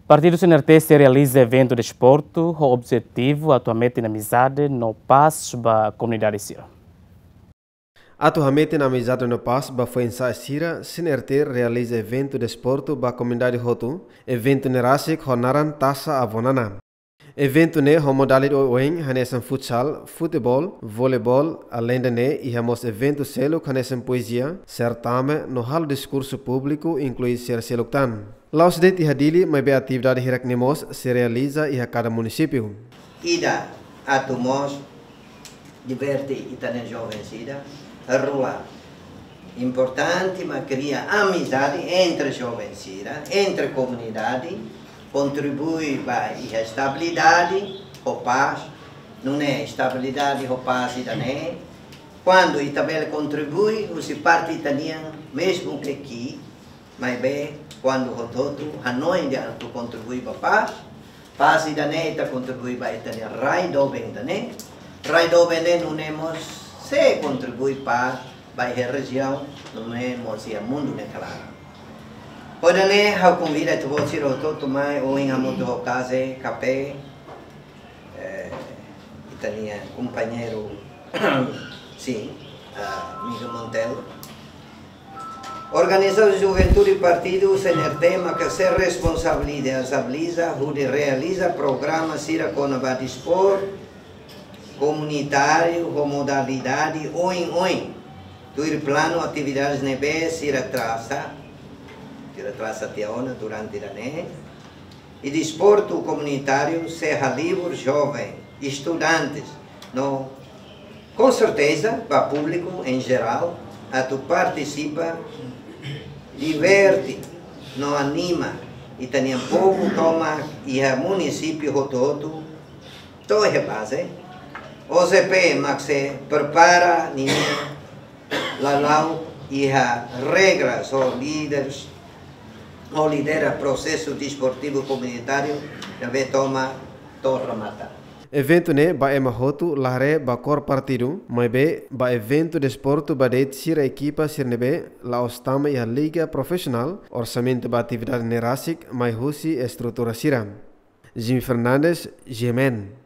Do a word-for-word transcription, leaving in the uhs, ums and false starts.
Partidu C N R T sei realiza eventu desportu ho objetivu atu hametin amizade no pás ba komunidade sira. Atu hametin amizade no pás ba foin-sa'e sira, C N R T realiza eventu desportu ba komunidade hotu. Eventu ne'e rasik ho naran Taça Avó Nana. Eventu ne'e ho modalidade oioin hanesan futsal, futeból, voleibol, aleinde ne'e iha mós eventu seluk hanesan poezia, sertame no halo diskursu públiku, inklui sira seluk tan. La'ós de'it iha Dili, maibé atividade hirak-ne'e mós sei realiza iha kada munisípiu. Ida atu mós diverte ita-nia joven sira, rua importante mak kria amizade entre joven sira, entre komunidade, kontribui ba iha estabilidade ho pás, nune'e estabilidade ho pás ida-ne'e, kuandu ita bele kontribui husi parte ita-nian, mezmu ke ki'ik, maibé kuandu hotu-hotu hanoin atu kontribui ba pás, pás ida-ne'e ita kontribui ba ita-nia rai doben ida-ne'e, rai doben ne'e nune'e mós sei kontribui pás ba iha rejiaun, nune'e mós iha mundu ne'e kalan. Hodi nune'e ha'u konvida ita-boot sira hotu-hotu mai ohin hamutuk ho KASE, KAPEI, eh, ita-nia kompañeiru, sin, ah, Miguel Monteiro. Organizasaun Juventude Partidu C N R T maka sei responsabiliza, responsabiliza hodi realiza programa sira kona-ba desportu komunitáriu ho modalidade oioin. Tuir planu atividades ne'ebé sira trasa, sira trasa tiha ona durante ida-ne'e. I desportu komunitáriu sei halibur joven, estudantes, no, com certeza, ba públiku em geral, atu partisipa, diverte, no anima ita-nia povu tomak iha munisípiu hotu-hotu, to'o iha baze. O J P mak sei prepara ninia lala'ok iha regras ho líderes, ho lidera prosesu desportivu komunitáriu ne'ebé tomak to'o remata. Eventu ne'e ba ema hotu, la haree ba kór partidu, maibé ba eventu desportu ba de'it sira ekipa sira ne'ebé la'ós tama iha liga profisionál, orsamentu ba atividade ne'e rasik mai husi estrutura sira. Jimmy Fernandes, G M N.